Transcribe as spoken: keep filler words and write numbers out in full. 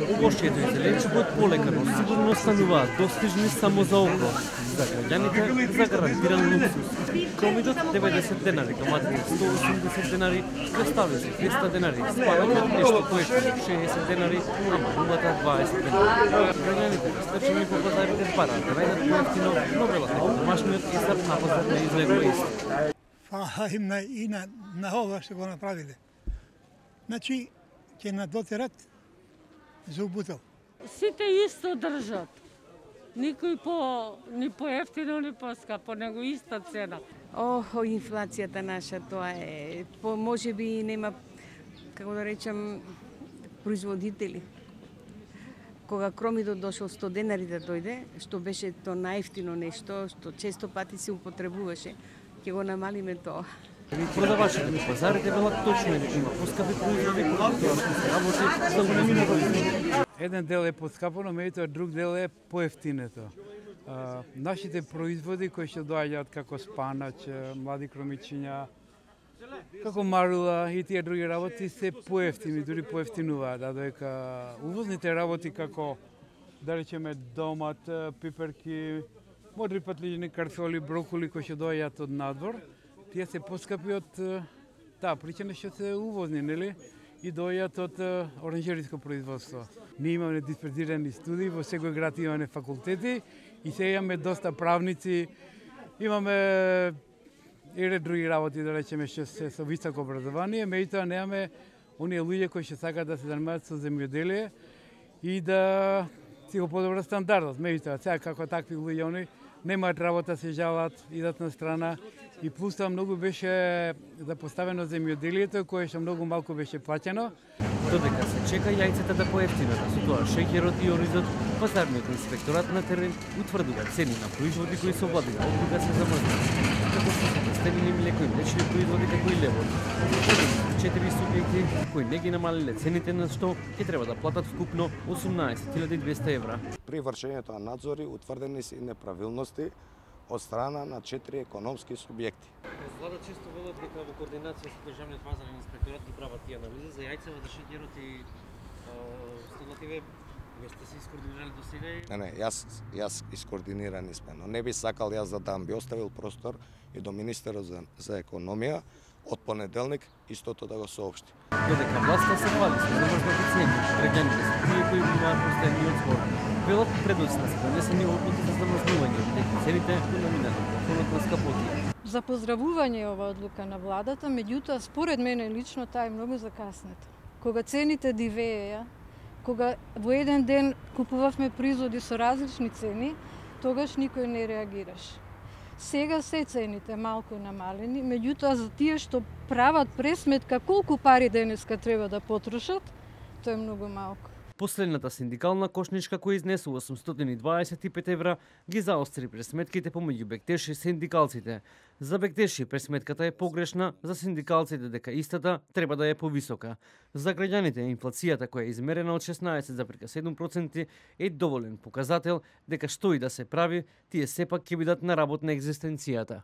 Овошјето и зеленчукот полека, но сигурно стануваат достижни само за око. За граѓаните за гарантиран луксус. Кромидот деветдесет денари, томатите сто осумдесет денари, краставици триста денари, спанаќот нешто поевтино шеесет денари, а манулата дваесет денари. Граѓаните растрчени по пазарите бараат да најдат поевтино, но велат дека домашниот исар на пазар не изгледува исто. Фала им на, и на, на ова што го направиле. Значи, ќе надотерат за убутал. Сите исто држат. Никој по ни поевтино, ни поскапо, него иста цена. Охо, инфлацијата наша, тоа е, по, може би нема, како да речем, производители. Кога кромидот дошол сто денари да дојде, што беше то најефтино нешто, што често пати се употребуваше, ќе го намалиме тоа. Продавачите на пазарите велат точно е дека има поскапи производи, кои што се работи за големина. Еден дел е поскапо, но меѓутоа друг дел е поевтинето. Uh, нашите производи кои што доаѓаат како спанач, млади кромичиња, како марула и тие други работи се поевтини, дури поевтинуваат, а додека увозните работи како да речеме домат, пиперки, модри патлиџни, картофи, броколи кои што доаѓаат од надвор, тие се поскапи од таа причина што се увозни, нели? И доаѓаат од оранжериско производство. Ние имаме дисперзирани студии, во секој град имаме факултети и се имаме доста правници, имаме и ред други работи, да речеме, што се со високо образование, меѓутоа немаме оние луѓе кои што сакаат да се занимаваат со земјоделие и да си го подобрат стандардот. Меѓутоа, сега како такви луѓе они немаат работа, се жалат, идат на страна и плюс тоа многу беше запоставено земјоделието, кое што многу малку беше плаќено. Додека се чека јајцата да поевтинат, а со тоа шеќерот и оризот, пазарниот инспекторат на терен утврдува цени на производи кои се облагаат кога се замрзнат. Како што се представени млеко и млечни производи како и левот. Четири субјекти кои не ги намалиле цените, на што ќе треба да платат вкупно осумнаесет илјади и двесте евра. При вршењето на надзори утврдени се неправилности од страна на четири економски субјекти. Влада често велат дека во координација со државниот пазарен инспекторат ги прават тие анализи за јајцево, за шеќерот и столативе. Вие сте се искоординирали до сега? Не, не, јас јас искоординирани сме, но не би сакал јас да дам, би оставил простор и до министерот за, за економија од понеделник истото да го соопшти. Додека власта се хвали со замрзнати цени, граѓаните се тие кои имаат постојниот збор. Велат предносно се донесени одлуки за замрзнување, дека цените го наминат фонот на скапотија. За поздравување ова одлука на владата, меѓутоа според мене лично таа е многу закаснета. Кога цените дивееја, кога во еден ден купувавме производи со различни цени, тогаш никој не реагираше. Сега се цените малку намалени, меѓутоа за тие што прават пресметка колку пари денеска треба да потрошат, тоа е многу малку. Последната синдикална кошничка која изнесува осумстотини и дваесет и пет евра ги заостри пресметките помеѓу Бектеши и синдикалците. За Бектеши пресметката е погрешна, за синдикалците дека истата треба да е повисока. За граѓаните инфлацијата која е измерена од шеснаесет зарез седум проценти е доволен показател дека што и да се прави, тие сепак ќе бидат на работ на екзистенцијата.